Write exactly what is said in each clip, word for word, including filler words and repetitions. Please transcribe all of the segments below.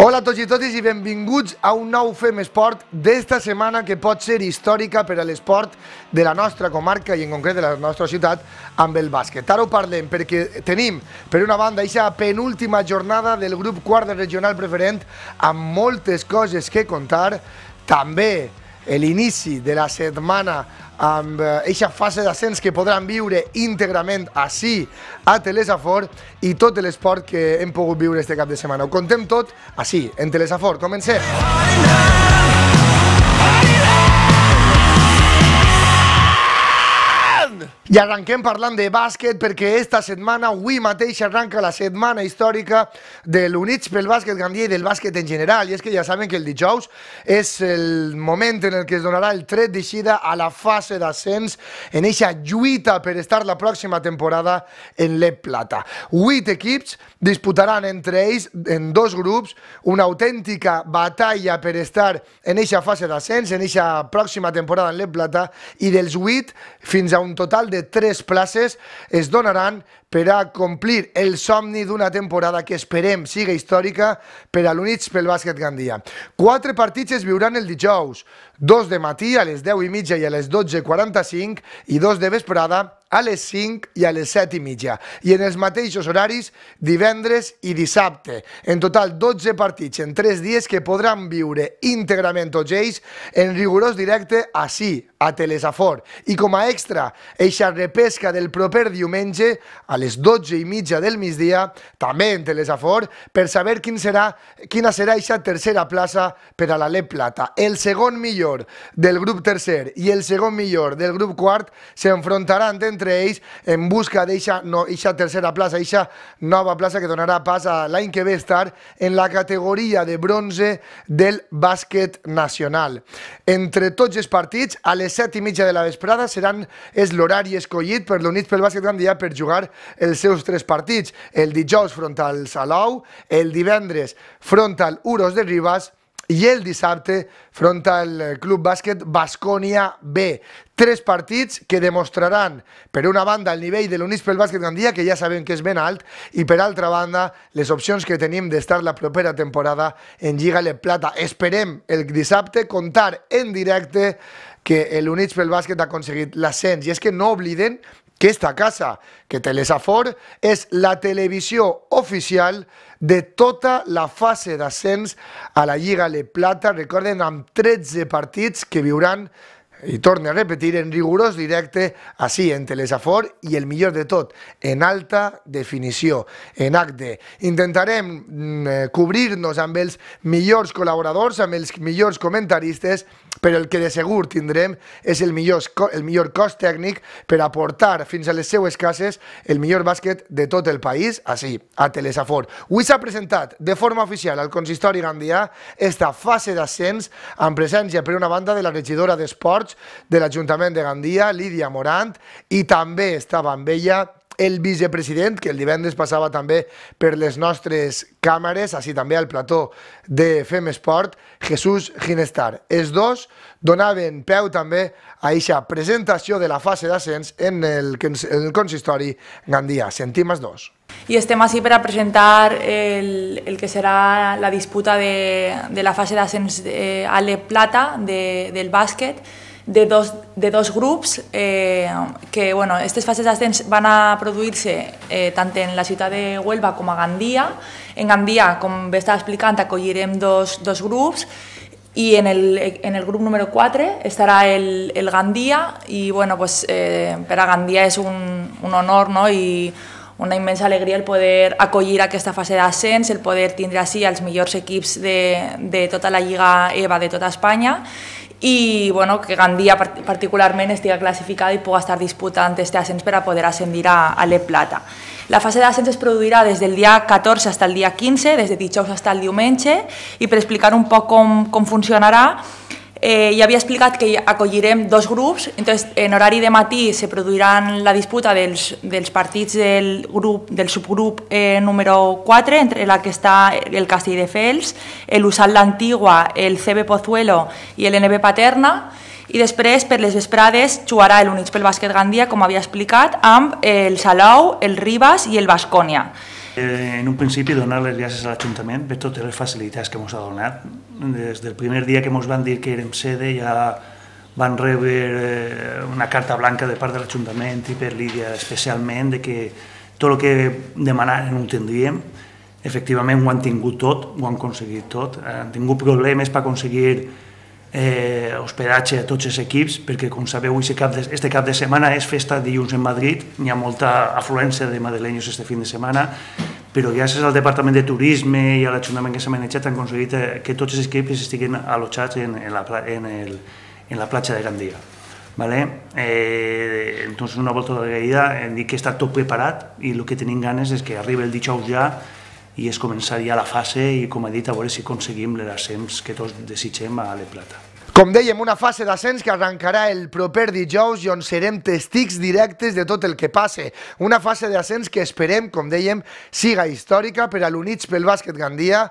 Hola a tots i totes i benvinguts a un nou Fem Esport d'esta setmana que pot ser històrica per a l'esport de la nostra comarca i en concret de la nostra ciutat amb el bàsquet. Ara ho parlem perquè tenim per una banda aquesta penúltima jornada del grup quart de regional preferent amb moltes coses que contar, també l'inici de la setmana amb aquesta fase d'ascens que podran viure íntegrament ací a Telesafor i tot l'esport que hem pogut viure este cap de setmana. Ho contem tot ací, en Telesafor. Comencem! I arrenquem parlant de bàsquet perquè esta setmana, avui mateix, arranca la setmana històrica de l'Units pel Bàsquet Gandia i del bàsquet en general. I és que ja saben que el dijous és el moment en el que es donarà el tret d'eixida a la fase d'ascens en eixa lluita per estar la pròxima temporada en l'E Plata. Vuit equips disputaran entre ells en dos grups una autèntica batalla per estar en eixa fase d'ascens, en eixa pròxima temporada en l'E Plata, i dels vuit fins a un total de tres places es donaran per a complir el somni d'una temporada que esperem siga històrica per a l'Units pel Bàsquet Gandia. Quatre partits es viuran el dijous, dos de matí a les deu i mitja i a les dotze i quaranta-cinc i dos de vesprada a les cinc i a les set i mitja. I en els mateixos horaris divendres i dissabte. En total dotze partits en tres dies que podran viure íntegrament tots ells en rigorós directe ací, a Telesafor. I com a extra, eixa repesca del proper diumenge a les dotze i mitja del migdia, també en Telesafor, per saber quin serà, quina serà eixa tercera plaça per a la l'E Plata. El segon millor del grup tercer i el segon millor del grup quart s'enfrontaran entre ells en busca d'eixa no, tercera plaça, eixa nova plaça que donarà pas a l'any que ve estar en la categoria de bronze del bàsquet nacional. Entre tots els partits, a les set i mitja de la vesprada seran és l'horari escollit per l'Units pel Bàsquet Gandia per jugar els seus tres partits. El dijous front al Salou, el divendres front al Uros de Ribas i el dissabte front al Club Bàsquet Baskonia B. Tres partits que demostraran, per una banda, el nivell de l'Units pel Bàsquet Gandia, que ja sabem que és ben alt, i per altra banda, les opcions que tenim d'estar la propera temporada en Lliga l'E Plata. Esperem el dissabte contar en directe que l'Units pel Bàsquet ha aconseguit l'ascens. I és que no obliden que esta casa, que Telesafor, és la televisió oficial de tota la fase d'ascens a la Lliga l'E Plata. Recorden, amb tretze partits que viuran, i torno a repetir, en rigorós directe ací, en Telesafor, i el millor de tot, en alta definició, en H D. Intentarem mm, cobrir-nos amb els millors col·laboradors, amb els millors comentaristes, però el que de segur tindrem és el millor, el millor cos tècnic per aportar fins a les seues cases el millor bàsquet de tot el país, ací, a Telesafor. Avui s'ha presentat de forma oficial al consistori gandià esta fase d'ascens amb presència per una banda de la regidora d'Esports de l'Ajuntament de Gandia, Lídia Morant, i també estava amb ella el vicepresident, que el divendres passava també per les nostres càmeres, així també al plató de Fem Esport, Jesús Ginestar. Els dos donaven peu també a aquesta presentació de la fase d'ascens en el, en el consistori Gandia. Sentim els dos. I estem així per a presentar el, el que serà la disputa de, de la fase d'ascens a l'E Plata de, del bàsquet, de dos, de dos grups eh, que, bueno, aquestes fases d'ascens van a produir-se eh, tant en la ciutat de Huelva com a Gandia. En Gandia, com bé estava explicant, acollirem dos, dos grups i en el, en el grup número quatre estarà el, el Gandia i, bueno, pues, eh, per a Gandia és un, un honor, no? I una immensa alegria el poder acollir aquesta fase d'ascens, el poder tindre així els millors equips de, de tota la Lliga E V A de tota Espanya i bueno, que Gandia particularment estigui classificada i pugui estar disputant aquest ascens per a poder ascendir a, a l'E Plata. La fase d'ascens es produirà des del dia catorze fins al dia quinze, des de dijous fins al diumenge, i per explicar un poc com, com funcionarà, Eh, ja havia explicat que acollirem dos grups, entonces, en horari de matí se produiran la disputa dels, dels partits del, grup, del subgrup eh, número quatre, entre la que està el Castelldefels, el U S A L l'Antigua, el C B Pozuelo i el N B Paterna, i després per les vesprades jugarà l'Units pel Bàsquet Gandia, com havia explicat, amb el Salou, el Ribas i el Baskonia. En un principi donar les gràcies a l'Ajuntament per totes les facilitats que ens ha donat. Des del primer dia que ens van dir que érem sede ja van rebre una carta blanca de part de l'Ajuntament i per Lídia especialment de que tot el que demanaren ho tindríem. Efectivament ho han tingut tot, ho han aconseguit tot. Han tingut problemes per aconseguir eh, hospedatge a tots els equips perquè, com sabeu, este cap de, este cap de setmana és festa dilluns en Madrid, hi ha molta afluència de madrileños este fin de setmana, però gràcies al Departament de Turisme i a l'Ajuntament que s'ha manejat han aconseguit que tots els equips estiguin allotjats en, en, la, en, el, en la platja de Gandia. Vale? Eh, entonces, una volta d'agraïda, hem dit que està tot preparat i el que tenim ganes és que arribi el dijous ja i és començar ja la fase i, com he dit, a veure si aconseguim l'ascens que tots desitgem a l'E Plata. Com dèiem, una fase d'ascens que arrencarà el proper dijous i on serem testics directes de tot el que passe. Una fase d'ascens que esperem, com dèiem, siga històrica per a l'Units pel Bàsquet Gandia,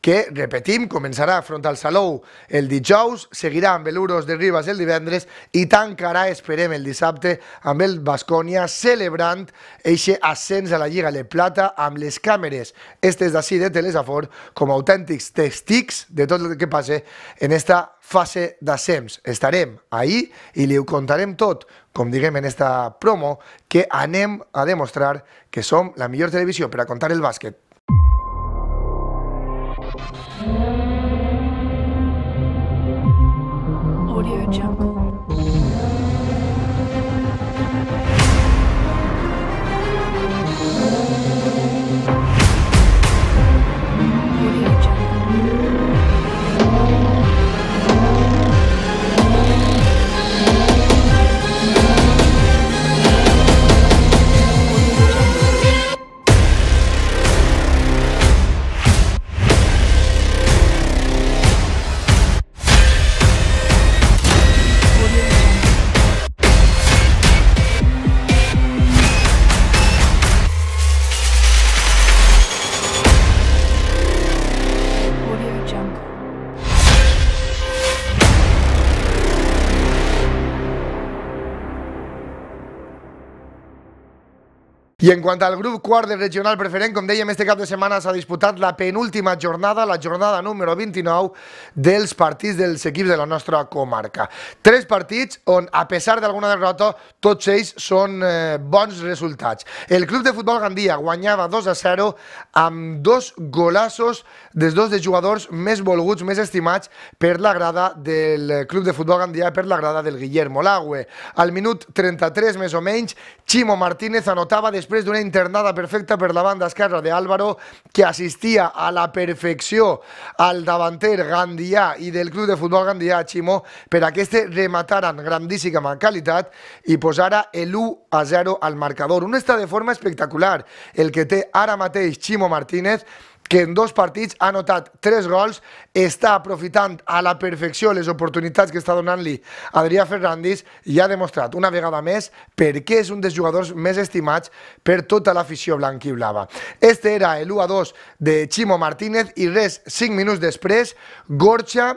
que, repetim, començarà front al Salou el dijous, seguirà amb l'Euros de Ribas el divendres i tancarà, esperem, el dissabte amb el Baskonia, celebrant eixe ascens a la Lliga Le Plata amb les càmeres estes d'ací de Telesafor com a autèntics testics de tot el que passe en esta fase d'ascens. Estarem ahí i li ho contarem tot, com diguem en esta promo, que anem a demostrar que som la millor televisió per a contar el bàsquet. Audio Jungle. I en quant al grup quart del regional preferent, com dèiem, este cap de setmana s'ha disputat la penúltima jornada, la jornada número vint-i-nou dels partits dels equips de la nostra comarca. Tres partits on, a pesar d'alguna derrota, tots ells són eh, bons resultats. El Club de Futbol Gandia guanyava dos a zero amb dos golassos dels dos de jugadors més volguts, més estimats per la grada del Club de Futbol Gandia, per la grada del Guillermo Lagüe. Al minut trenta-tres, més o menys, Chimo Martínez anotava després d'una internada perfecta per la banda esquerra d'Álvaro, que assistia a la perfecció al davanter gandià i del Club de Futbol Gandia, Chimo, per a que este rematara en grandíssima qualitat i posara l'u a zero al marcador. Un estat de forma espectacular el que té ara mateix Chimo Martínez, que en dos partits ha anotat tres gols, està aprofitant a la perfecció les oportunitats que està donant-li Adrià Ferrandis i ha demostrat una vegada més per què és un dels jugadors més estimats per tota l'afició blanquiblava. Este era l'u a dos de Chimo Martínez i res, cinc minuts després, Gorcha,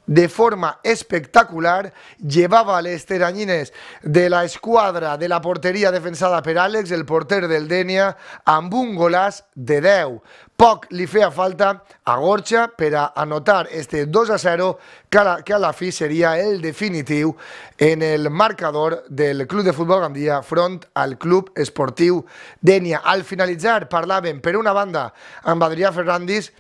de forma espectacular, llevava les teranyines de la esquadra de la porteria defensada per Àlex, el porter del Dènia, amb un golàs de deu. Poc li feia falta a Gorcha per a anotar este dos a zero que a, la, que a la fi seria el definitiu en el marcador del Club de Futbol Gandia front al Club Esportiu Dènia. Al finalitzar parlàvem per una banda amb Adrià Ferrandis,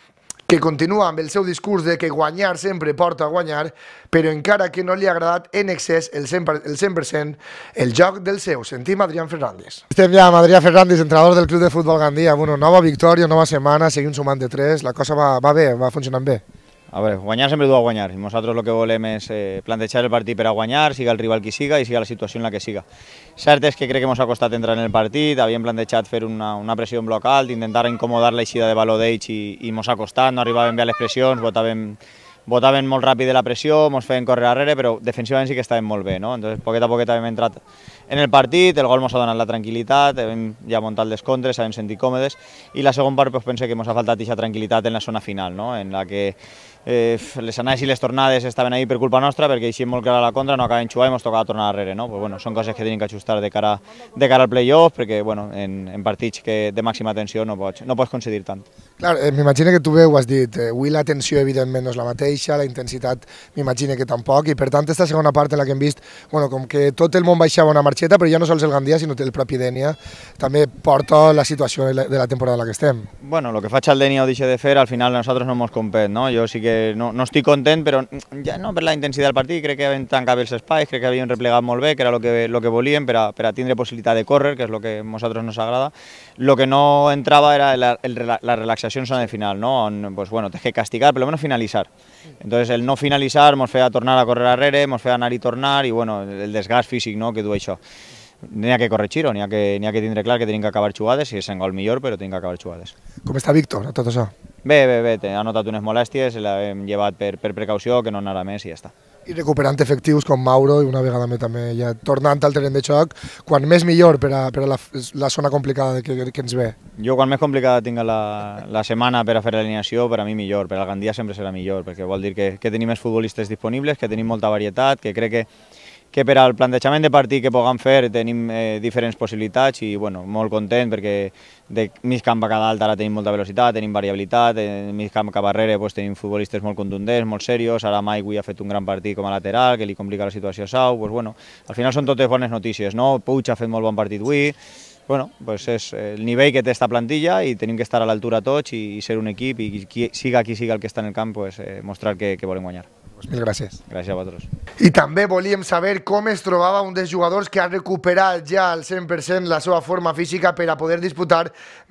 que continua amb el seu discurs de que guanyar sempre porta a guanyar, però encara que no li ha agradat en excés el cent per cent el joc del seu. Sentim Adrià Ferrandis. Estem ja amb Adrià Ferrandis, entrenador del Club de Futbol Gandia. Bueno, nova victòria, nova setmana, seguim sumant de tres, la cosa va, va bé, va funcionant bé. A veure, guanyar sempre du a guanyar, i nosaltres el que volem és eh, plantejar el partit per a guanyar, siga el rival qui siga i siga la situació en la que siga. Cert és que crec que ens ha costat entrar en el partit, havíem plantejat fer una, una pressió en bloc alt, intentar incomodar l'eixida de valor d'ells i, i ens ha costat, no arribàvem bé a les pressions, votàvem, votàvem molt ràpid de la pressió, ens feien córrer darrere, però defensivament sí que estàvem molt bé, no? Entonces, poquet a poquet hem entrat en el partit, el gol ens ha donat la tranquil·litat, hem ja muntat les contres, hem sentit còmodes, i la segona part pues, penso que ens ha faltat aquesta tranquil·litat en la zona final, no? En la que eh, les anades i les tornades estaven ahí per culpa nostra, perquè eixim molt clara a la contra, no acaben xugar i ens tocava tornar darrere, no? Pues bueno, són coses que tenim que ajustar de cara, de cara al play-off, perquè bueno, en, en partits que de màxima tensió no pots, no pots concedir tant. Clar, eh, m'imagino que tu bé ho has dit, eh, avui la tensió evidentment no és la mateixa, la intensitat m'imagino que tampoc, i per tant esta segona part en la que hem vist, bueno, com que tot el món baixava una marxeta, però ja no sols el Gandia, sinó el propi Denia, també porta la situació de la temporada en la que estem. Bueno, lo que faig el Denia o deixe de fer, al final nosaltres no hemos compet, no? Jo sí que no, no estic content, però ja no per la intensitat del partit, crec que havien tancat bé els espais, crec que havien replegat molt bé, que era el que, lo que volíem per a, per a tindre possibilitat de córrer, que és el que a nosaltres nos agrada. Lo que no entrava era la, el, la relaxació en zona de final, ¿no? On, pues bueno, tens que castigar, per lo menos finalitzar. Entonces el no finalitzar mos feia tornar a córrer arrere, mos feia anar i tornar, i bueno, el desgast físic, no?, que du això. N'hi ha que corregir-ho, n'hi ha, que, ha que tindre clar que tenim que acabar jugades, si és en gol millor, però tenim que acabar jugades. Com està Víctor, tot això? Bé, bé, bé, ha notat unes molèsties, l'hem llevat per, per precaució, que no anara més i ja està. I recuperant efectius com Mauro, i una vegada més també ja tornant al terreny de xoc, quan més millor per a, per a la, la zona complicada que, que ens ve. Jo quan més complicada tinga la, la setmana per a fer l'alineació, per a mi millor, per al Gandia sempre serà millor, perquè vol dir que, que tenim més futbolistes disponibles, que tenim molta varietat, que crec que que per al plantejament de partit que puguem fer tenim eh, diferents possibilitats i bueno, molt content perquè de mig camp a cada alt ara tenim molta velocitat, tenim variabilitat, de mig camp cap darrere pues, tenim futbolistes molt contundents, molt serios, ara Mike avui ha fet un gran partit com a lateral que li complica la situació a Sau, pues, bueno, al final són totes bones notícies, no? Puig ha fet molt bon partit avui, bueno, pues és el nivell que té esta plantilla i tenim que estar a l'altura tots i, i ser un equip i qui, siga qui siga el que està en el camp pues, eh, mostrar que, que volem guanyar. Pues mil gràcies. Gràcies a vosaltres. I també volíem saber com es trobava un dels jugadors que ha recuperat ja al cent per cent la seva forma física per a poder disputar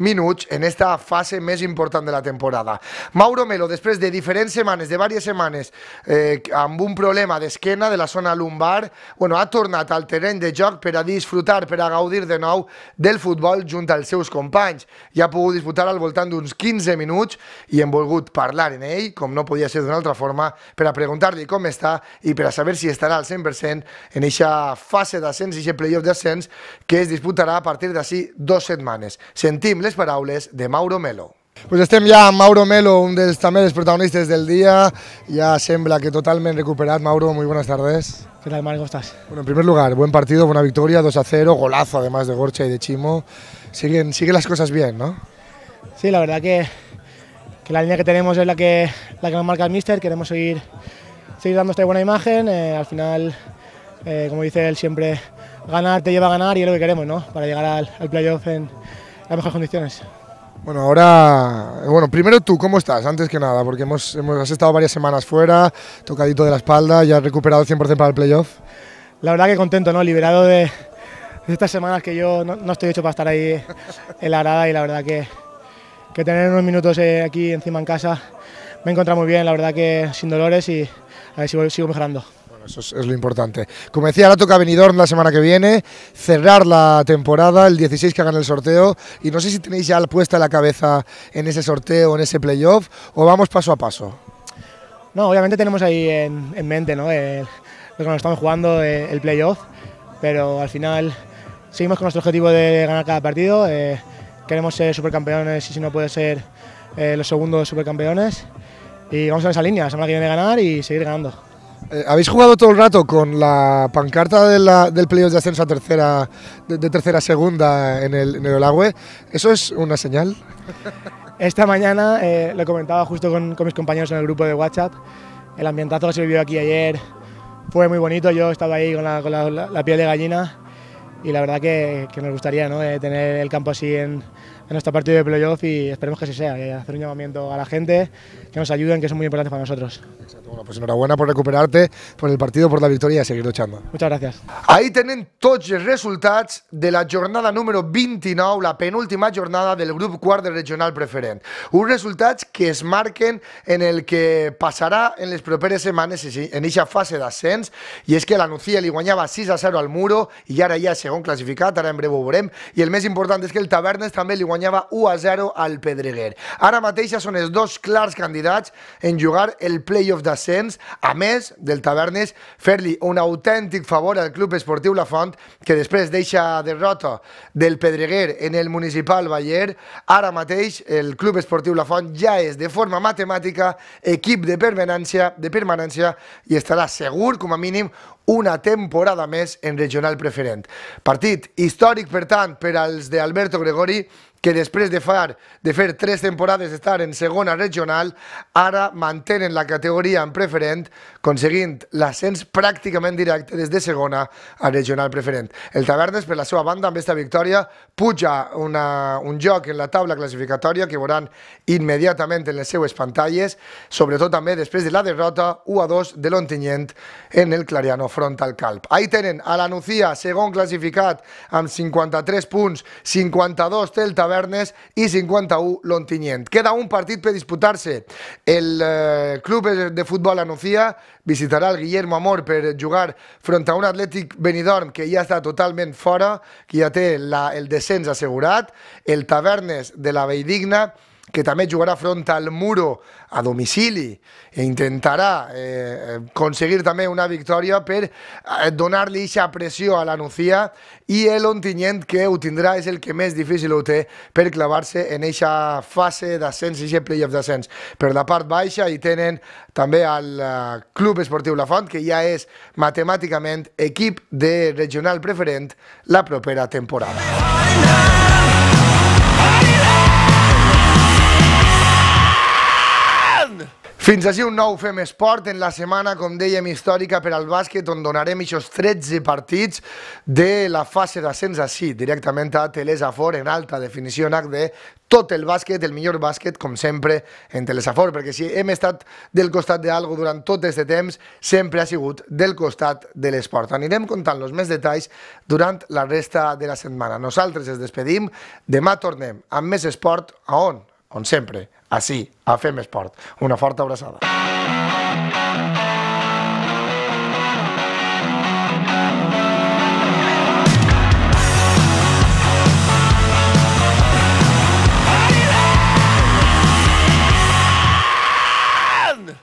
minuts en esta fase més important de la temporada. Mauro Melo, després de diferents setmanes, de diverses setmanes, eh, amb un problema d'esquena de la zona lumbar, bueno, ha tornat al terreny de joc per a disfrutar, per a gaudir de nou del futbol junt als seus companys. Ja ha pogut disputar al voltant d'uns quinze minuts i hem volgut parlar en ell, com no podia ser d'una altra forma, per a preguntar preguntar-li com està i per a saber si estarà al cent per cent en aquesta fase d'ascens i aquest playoff d'ascens que es disputarà a partir d'ací dues setmanes. Sentim les paraules de Mauro Melo. Pues estem ja amb Mauro Melo, un dels també dels protagonistes del dia. Ya sembla que totalment recuperat. Mauro, muy buenas tardes. ¿Qué tal, Marc? ¿Cómo estás? Bueno, en primer lugar, buen partido, buena victoria, dos a cero, golazo además de Gorcha y de Chimo. Siguen, siguen las cosas bien, ¿no? Sí, la verdad que, que la línea que tenemos es la que, la que nos marca el míster. Queremos seguir, seguir dando esta buena imagen. Eh, al final, eh, como dice él, siempre ganar te lleva a ganar y es lo que queremos, ¿no? Para llegar al, al playoff en las mejores condiciones. Bueno, ahora, bueno, primero tú, ¿cómo estás? Antes que nada, porque hemos, hemos has estado varias semanas fuera, tocadito de la espalda, ya has recuperado el cien por cien para el playoff. La verdad que contento, ¿no? Liberado de, de estas semanas que yo no, no estoy hecho para estar ahí en la grada y la verdad que, que tener unos minutos eh, aquí encima en casa me he encontrado muy bien, la verdad que sin dolores y a ver si sigo, sigo mejorando. Eso es, es lo importante. Como decía, ahora toca Benidorm la semana que viene, cerrar la temporada, el dieciséis que hagan el sorteo, y no sé si tenéis ya puesta la cabeza en ese sorteo, en ese playoff, o vamos paso a paso. No, obviamente tenemos ahí en, en mente, ¿no? El, lo que nos estamos jugando, el, el playoff, pero al final seguimos con nuestro objetivo de ganar cada partido, eh, queremos ser supercampeones y si no puede ser eh, los segundos supercampeones, y vamos en esa línea, la semana que viene ganar y seguir ganando. Eh, ¿Habéis jugado todo el rato con la pancarta de la, del playoff de ascenso a tercera, de, de tercera a segunda en el, en el Olagüe? ¿Eso es una señal? Esta mañana eh, lo comentaba justo con, con mis compañeros en el grupo de WhatsApp. El ambientazo que se vivió aquí ayer fue muy bonito. Yo estaba ahí con la, con la, la, la piel de gallina y la verdad que, que nos gustaría, ¿no? eh, tener el campo así en, en nuestro partido de playoff y esperemos que así sea, eh, hacer un llamamiento a la gente, que nos ayuden, que son muy importantes para nosotros. Exacto. Bueno, pues enhorabuena por recuperarte, por el partido, por la victoria y a seguir luchando. Muchas gracias. Ahí tenen tots els resultats de la jornada número vint-i-nou, la penúltima jornada del grup quart de regional preferent. Uns resultats que es marquen en el que passarà en les properes setmanes en aquesta fase d'ascens, i és que la Nucía li guanyava sis a zero al Muro i ara ja és segon classificat, ara en breu ho veurem, i el més important és que el Tavernes també li guanyava u a zero al Pedreguer. Ara mateix són els dos clars candidats en jugar el playoff d'ascens, a més del Tavernes fer-li un autèntic favor al Club Esportiu La Font, que després deixa derrota del Pedreguer en el Municipal Baller. Ara mateix el Club Esportiu La Font ja és de forma matemàtica equip de permanència, de permanència i estarà segur, com a mínim, una temporada més en regional preferent. Partit històric, per tant, per als d'Alberto Gregori, que després de fer, de fer tres temporades d'estar en segona regional, ara mantenen la categoria en preferent, aconseguint l'ascens pràcticament directe des de segona a regional preferent. El Tavernes, per la seva banda, amb aquesta victòria, puja una, un joc en la taula classificatòria que veuran immediatament en les seues pantalles, sobretot també després de la derrota u a dos de l'Ontinyent en el Clariano front al Calp. Ahí tenen a la Nucía, segon classificat, amb cinquanta-tres punts, cinquanta-dos té el Tavernes, i cinquanta-u l'Ontinyent. Queda un partit per disputar-se. El eh, club de futbol a Nucía visitarà el Guillermo Amor per jugar front a un Atlètic Benidorm que ja està totalment fora, que ja té la, el descens assegurat. El Tavernes de la Valldigna, que també jugarà front al Muro a domicili i intentarà eh, aconseguir també una victòria per eh, donar-li aquesta pressió a la Nucía, i l'Ontinyent, que ho tindrà, és el que més difícil ho té per clavar-se en aquesta fase d'ascens i aquest playoff d'ascens. Per la part baixa hi tenen també el uh, Club Esportiu La Font, que ja és matemàticament equip de regional preferent la propera temporada. Fins així un nou Fem Esport en la setmana, com dèiem, històrica per al bàsquet, on donarem aquests tretze partits de la fase d'ascens així, directament a Telesafor, en alta definició en H D, tot el bàsquet, el millor bàsquet, com sempre, en Telesafor, perquè si hem estat del costat d'algo durant tot aquest temps, sempre ha sigut del costat de l'esport. Anirem contant els més detalls durant la resta de la setmana. Nosaltres ens despedim, demà tornem amb més esport, a on? On sempre, així, a Fem Esport. Una forta abraçada.